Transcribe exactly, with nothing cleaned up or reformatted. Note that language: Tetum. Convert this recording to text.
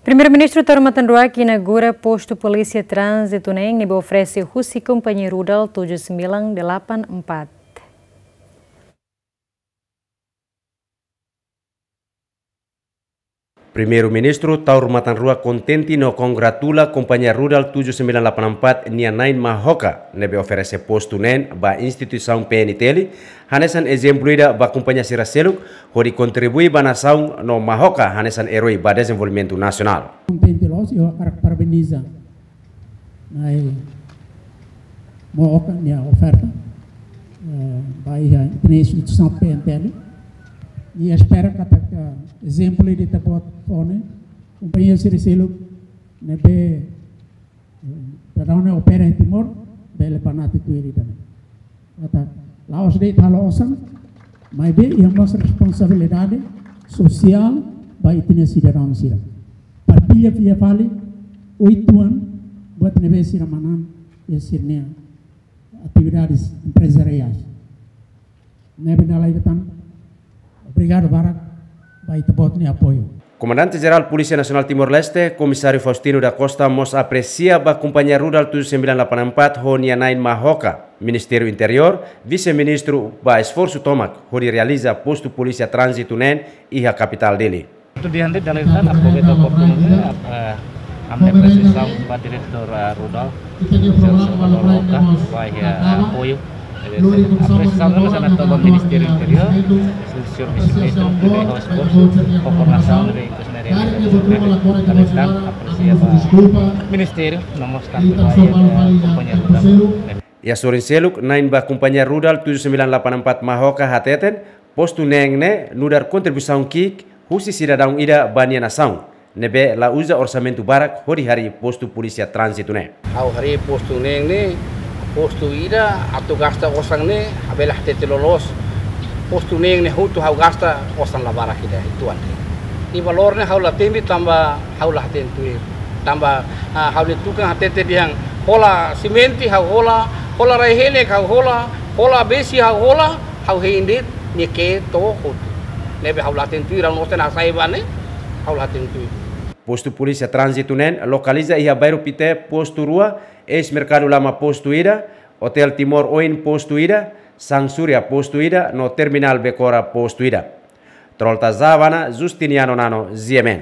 Primeiru-Ministru Taur Matan Ruak inaugura postu polísia tránzitu neen ne'ebé oferese husi kompañia Rudal tujuh sembilan delapan empat. Primeiru-Ministru Taur Matan Ruak kontente no kongratula kompañia Rudal tujuh sembilan delapan empat nia na'in Mahoka ne'ebé oferese postu neen ba instituisaun P N T L, hanesan ezemplu ida ba kompañia sira seluk, hodi kontribui ba nasaun no Mahoka hanesan eroi ba dezenvolvimentu nasionál. Kontente loos, ha'u hakarak parabeniza na'in Mahoka nia oferta, eh, ba iha ita-nia instituisaun P N T L. I espera katak ezemplu ida ita-boot fó ne'e, kompañia sira seluk ne'ebé, eh, daudaun ne'e opera iha Timor, bele banati tuir ida-ne'e. Katak la'ós de'it halo osan, maibé iha mós responsabilidade sosiál ba ita-nia sidadaun sira. Partilla fila fali oituan buat ne'ebé sira manán iha sira-nia atividades empresariais. Ne'ebé dala ida tan, obrigadu barak ba ita-boot nia apoiu. Komandante Jerál Polísia Nasionál Timor-Leste, Komisáriu Faustino da Costa, mós apresia ba kompañia Rudal tujuh sembilan delapan empat ho nia na'in Mahoka. Ministériu Interiór, Vise-Ministru ba esforsu tomak hodi realiza postu polísia tránzitu neen iha kapitál Dili. Itu di hande dalam tan apa kita waktu nunggu, eh, amne presisaun ba Diretór, eh, Rudal, Sir Salvador Roca, ba iha, eh, apoiu. Jadi, presisaun ne'e hanesan atu ba Ministériu Interiór, Sir Vise-Ministru, Diretór Esforsu, Governasaun, Diretór Sendiri, dalam tan apresia ba Ministériu, no mós tanba ba iha, eh, kompañia Rudal. Iha sorin seluk, na'in ba kompañia Rudal tujuh sembilan delapan empat Mahoka hateten, postu neen ne'e nu'udar kontribuisaun ki'ik husi sidadaun ida ba nia nasaun, ne'ebé la uza orsamentu barak hodi harii postu polísia tránzitu ne'e. Ha'u harii postu neen ne'e, postu ida atu gasta osan ne'e, ha'u bele hatete loloos. Postu neen ne'e hotu ha'u gasta osan la barak ida uitoan de'it. Nia valór ne'e ha'u la temi tanba ha'u la hatene tuir. Tanba, ah, ha'u-nia tukan hatete dehan hola simente ha'u hola, hola rai-henek ha'u hola, hola besi ha'u hola, ha'u hein de'it, nia ke'e to'o hotu. Ne'ebé ha'u la hatene tuir, ha'u-nia osan ne'e hasai ba ne'e, ha'u la hatene tuir. Postu polísia tránzitu neen lokaliza iha Bairru Pité postu rua, Eis Merkadu Lama postu ida, Otél Timor Oin postu ida, Sang Surya postu ida, no Terminál Becora postu ida. Trolta Zavana, Justiniano Nano, G M N.